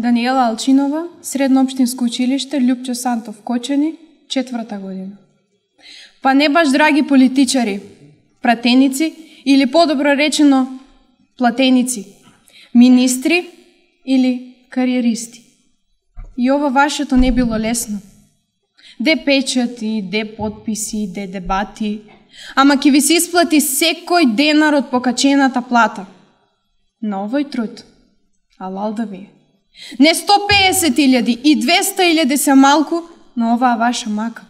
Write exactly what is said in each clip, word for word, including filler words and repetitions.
Даниела Алчинова, Средно општинско училиште Љупчо Сантов Кочани, четврта година. Па не баш драги политичари, пратеници или подобро речено платеници, министри или кариеристи. И ова вашето не било лесно. Де печати, де подписи, де дебати, ама ќе ви се исплати секој денар од покачената плата. На овој труд, алал да ви е. Не сто песет илјади и двеста илјади се малку на оваа ваша мака.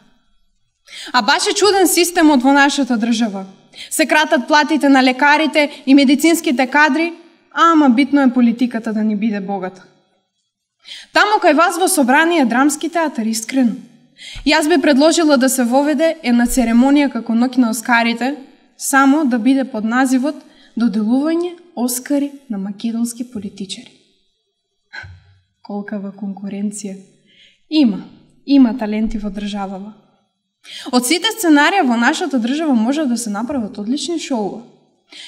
А баш е чуден системот во нашата држава. Се кратат платите на лекарите и медицинските кадри, ама битно е политиката да ни биде богата. Таму кај вас во собрание драмски театар, искрено. Јас би предложила да се воведе една церемонија како ноќ на Оскарите, само да биде под називот доделување Оскари на македонски политичари. Колкава конкуренција. Има, има таленти во државава. Од сите сценарија во нашата држава може да се направат одлични шоуа.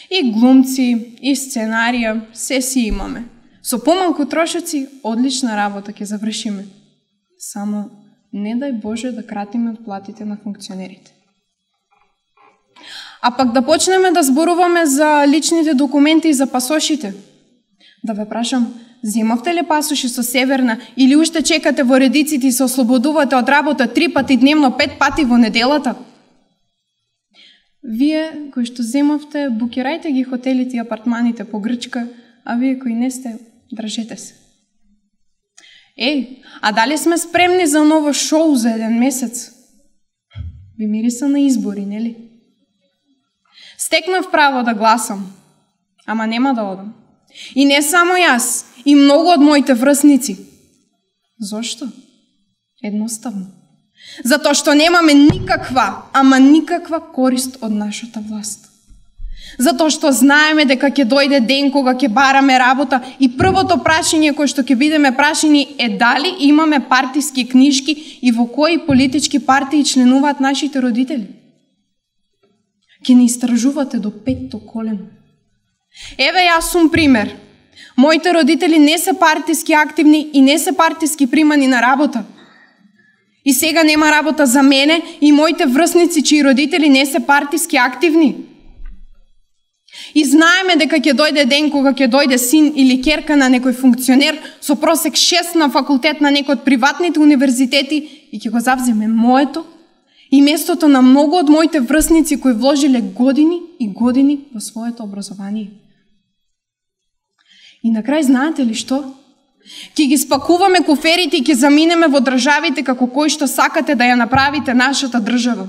И глумци, и сценарија, се си имаме. Со помалку трошоци, одлична работа ќе завршиме. Само не дај Боже да кратиме од платите на функционерите. А пак да почнеме да зборуваме за личните документи и за пасошите. Да ве прашам, земавте ли пасоши со Северна или уште чекате во редиците и се ослободувате од работа три пати дневно, пет пати во неделата? Вие кои што земавте, букирајте ги хотелите и апартманите по Грчка, а вие кои не сте, држете се. Еј, а дали сме спремни за ново шоу за еден месец? Ви мириса на избори, нели? Стекнав право да гласам, ама нема да одам. И не само јас, и многу од моите врсници. Зошто? Едноставно. Затоа што немаме никаква, ама никаква корист од нашата власт. Затоа што знаеме дека ќе дојде ден кога ќе бараме работа и првото прашање кое што ќе бидеме прашани е дали имаме партиски книжки и во кои политички партии членуваат нашите родители. Ќе ни истражувате до петто колено. Еве јас сум пример. Моите родители не се партиски активни и не се партиски примани на работа. И сега нема работа за мене и моите врсници чии родители не се партиски активни. И знаеме дека ќе дојде ден кога ќе дојде син или ќерка на некој функционер со просек шест на факултет на некој од приватните универзитети и ќе го завземе моето и местото на многу од моите врсници кои вложиле години и години во своето образование. И на крај знаете ли што? Ќе ги спакуваме куферите и ќе заминеме во државите како кои што сакате да ја направите нашата држава.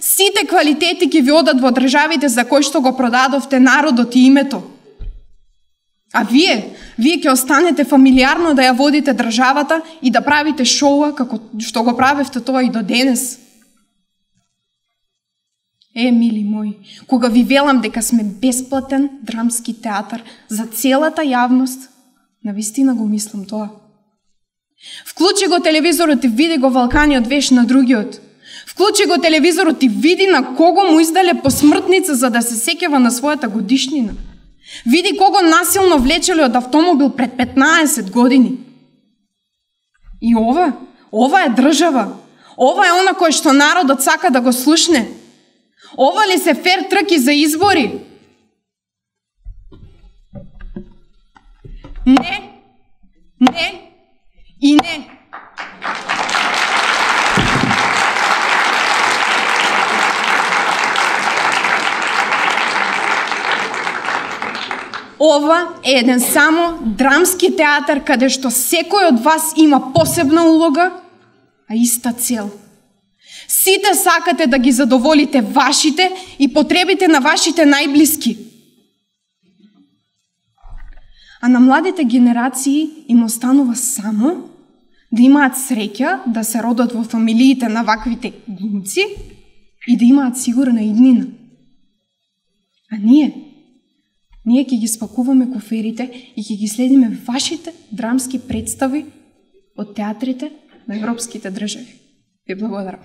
Сите квалитети ќе ви одат во државите за кои што го продадовте народот и името. А вие, вие ќе останете фамилиарно да ја водите државата и да правите шоуа како што го правевте тоа и до денес. Е, мили мои, кога ви велам дека сме бесплатен драмски театар за целата јавност, навистина го мислам тоа. Вклучи го телевизорот и види го Валканиот веш на другиот. Вклучи го телевизорот и види на кого му издале посмртница за да се сеќава на својата годишнина. Види кого насилно влечеле од автомобил пред петнаесет години. И ова, ова е држава. Ова е она кој што народот сака да го слушне. Ова ли се фер трки за избори? Не, не и не. Ова е еден само драмски театар каде што секој од вас има посебна улога, а иста цел. Сите сакате да ги задоволите вашите и потребите на вашите најблиски. А на младите генерации им останува само да имаат среќа да се родат во фамилиите на ваквите глумци и да имаат сигурна иднина. А ние, ние ќе ги спакуваме куферите и ќе ги следиме вашите драмски представи од театрите на европските држави. Ви благодарам.